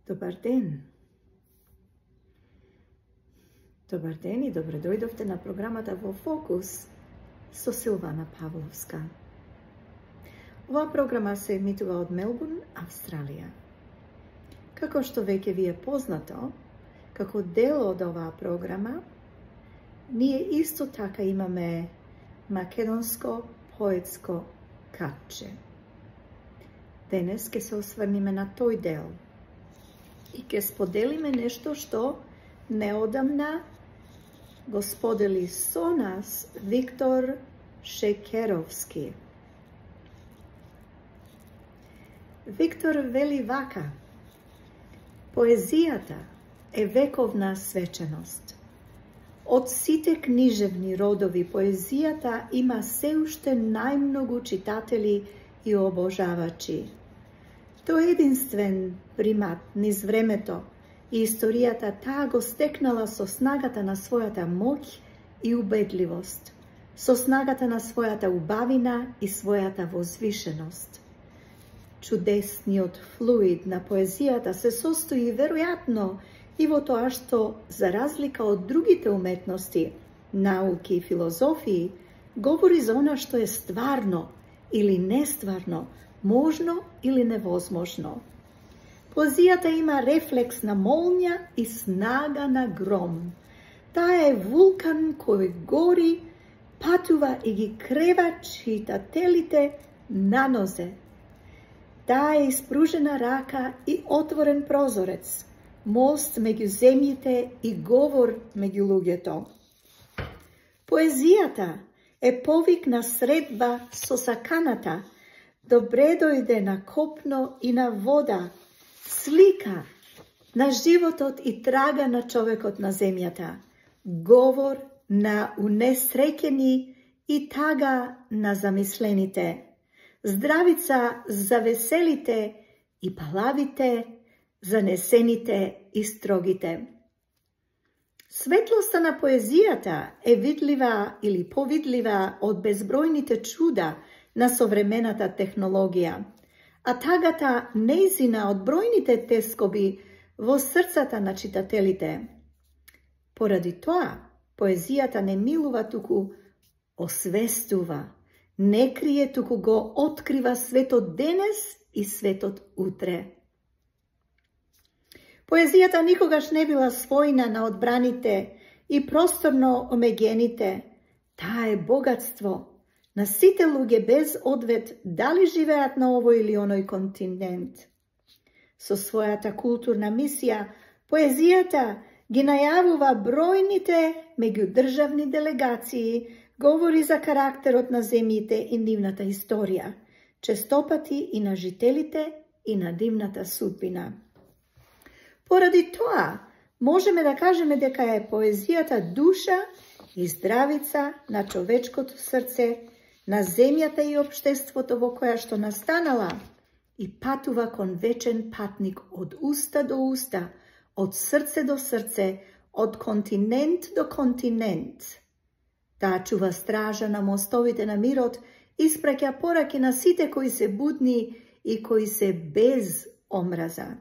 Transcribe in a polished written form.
Добар ден! Добар ден и добре дојдовте на програмата Во Фокус со Силвана Павловска. Оваа програма се емитува од Мелбурн, Австралија. Како што веќе ви е познато, како дел од оваа програма, ние исто така имаме македонско поетско катче. Денес ќе се осврниме на тој дел и ќе споделиме нешто што неодамна го сподели со нас Виктор Шекеровски. Виктор вели вака: поезијата е вековна свеченост. Од сите книжевни родови поезијата има се уште најмногу читатели и обожавачи. Тој единствен примат низ времето и историјата таа го стекнала со снагата на својата моќ и убедливост, со снагата на својата убавина и својата возвишеност. Чудесниот флуид на поезијата се состои веројатно и во тоа што, за разлика од другите уметности, науки и филозофии, говори за она што е стварно или нестварно, можно или невозможно. Поезијата има рефлекс на молња и снага на гром. Таа е вулкан кој гори, патува и ги крева читателите на нозе. Таа е испружена рака и отворен прозорец, мост меѓу земјите и говор меѓу луѓето. Поезијата е повик на средба со саканата, добре дојде на копно и на вода, слика на животот и трага на човекот на земјата, говор на унесреќени и тага на замислените, здравица за веселите и палавите, занесените и строгите. Светлоста на поезијата е видлива или повидлива од безбројните чуда на современата технологија, а тагата неизина од бројните тескоби во срцата на читателите. Поради тоа, поезијата не милува, туку освестува, не крие, туку го открива светот денес и светот утре. Поезијата никогаш не била својна на одбраните и просторно омеѓените. Таа е богатство на сите луѓе без одвет дали живеат на овој или оној континент. Со својата културна мисија, поезијата ги најавува бројните меѓудржавни делегации, говори за карактерот на земјите и нивната историја, честопати и на жителите и на нивната судбина. Поради тоа, можеме да кажеме дека е поезијата душа и здравица на човечкото срце, на земјата и општеството во која што настанала и патува кон вечен патник од уста до уста, од срце до срце, од континент до континент. Таа чува стража на мостовите на мирот, испраќа пораки на сите кои се будни и кои се без омраза.